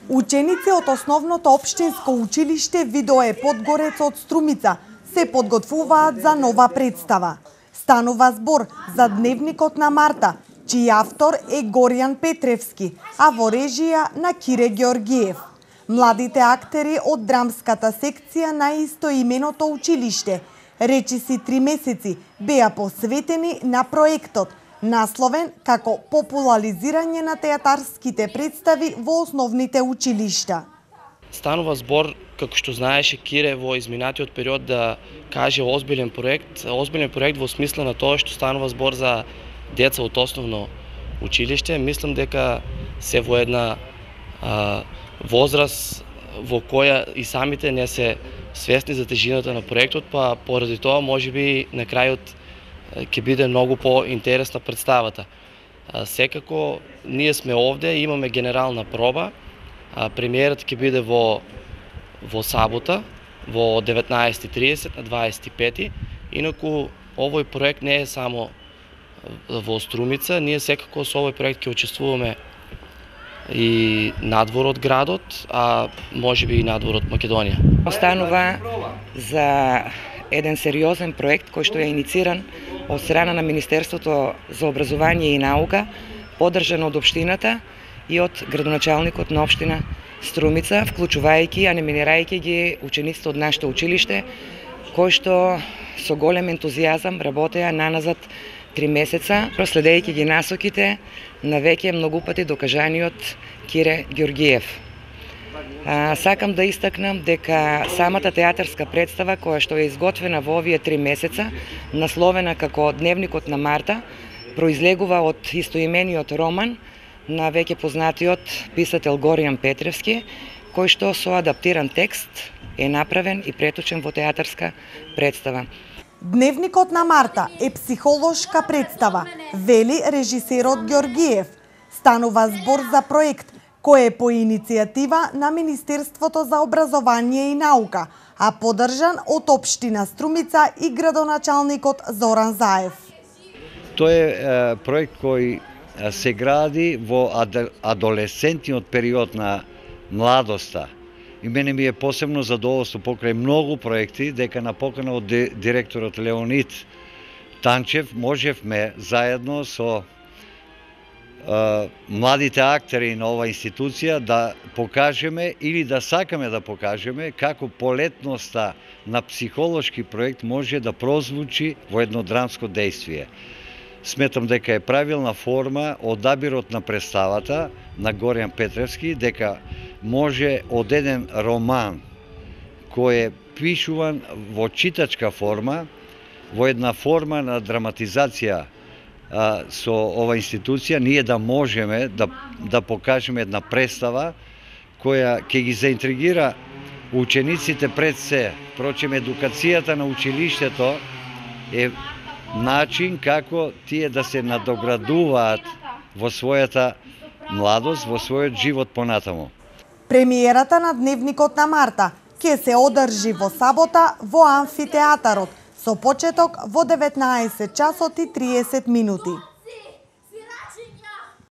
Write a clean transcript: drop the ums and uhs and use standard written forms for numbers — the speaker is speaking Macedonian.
Ученици од основното општинско училиште Видое Подгорец од Струмица се подготвуваат за нова представа. Станува збор за Дневникот на Марта, чиј автор е Горијан Петревски, а во режија на Кире Георгиев. Младите актери од драмската секција на истоименото училиште, речиси 3 месеци, беа посветени на проектот, насловен како популаризирање на театарските представи во основните училишта. Станува збор, како што знаеше Кире во изминатиот период, да каже озбилен проект во смисла на тоа што станува збор за деца од основно училиште. Мислам дека се во една возраст во која и самите не се свесни за тежината на проектот, па поради тоа можеби на крајот ќе биде многу поинтересна представата. Секако ние сме овде, имаме генерална проба. Премиерата ќе биде во сабота, во 19:30 на 25. Инаку овој проект не е само во Струмица, ние секако со овој проект ќе учествуваме и надвор од градот, а можеби и надвор од Македонија. Останува за еден сериозен проект кој што е инициран од страна на Министерството за образование и наука, поддржан од општината и од градоначалникот на општина Струмица, вклучувајќи, а номинирајќи ги учениците од нашето училиште, кои што со голем ентузијазам работеа наназад 3 месеца, проследејќи ги насоките на веќе многу пати докажаниот Кире Георгиев. Сакам да истакнам дека самата театарска представа, која што е изготвена во овие 3 месеца, насловена како Дневникот на Марта, произлегува од истоимениот роман на веќе познатиот писател Горијан Петревски, кој што со адаптиран текст е направен и преточен во театарска представа. Дневникот на Марта е психолошка представа, вели режисерот Георгиев. Станува збор за проект кој е по иницијатива на Министерството за образование и наука, а поддржан од општина Струмица и градоначалникот Зоран Заев. Тој е проект кој се гради во адолесцентниот период на младоста. И мене ми е посебно задоволство покрај многу проекти дека на покана од директорот Леонид Танчев можевме заедно со младите актери на оваа институција да покажеме или да сакаме да покажеме како полетноста на психолошки проект може да прозвучи во едно драмско дејствие. Сметам дека е правилна форма одабирот на представата на Горијан Петревски, дека може од еден роман кој е пишуван во читачка форма, во една форма на драматизација со ова институција, ние да можеме да покажеме една представа која ќе ги заинтригира учениците пред се. Впрочем, едукацијата на училиштето е начин како тие да се надоградуваат во својата младост, во својот живот понатаму. Премиерата на Дневникот на Марта ќе се одржи во сабота во амфитеатарот со почеток во 19:30 минути.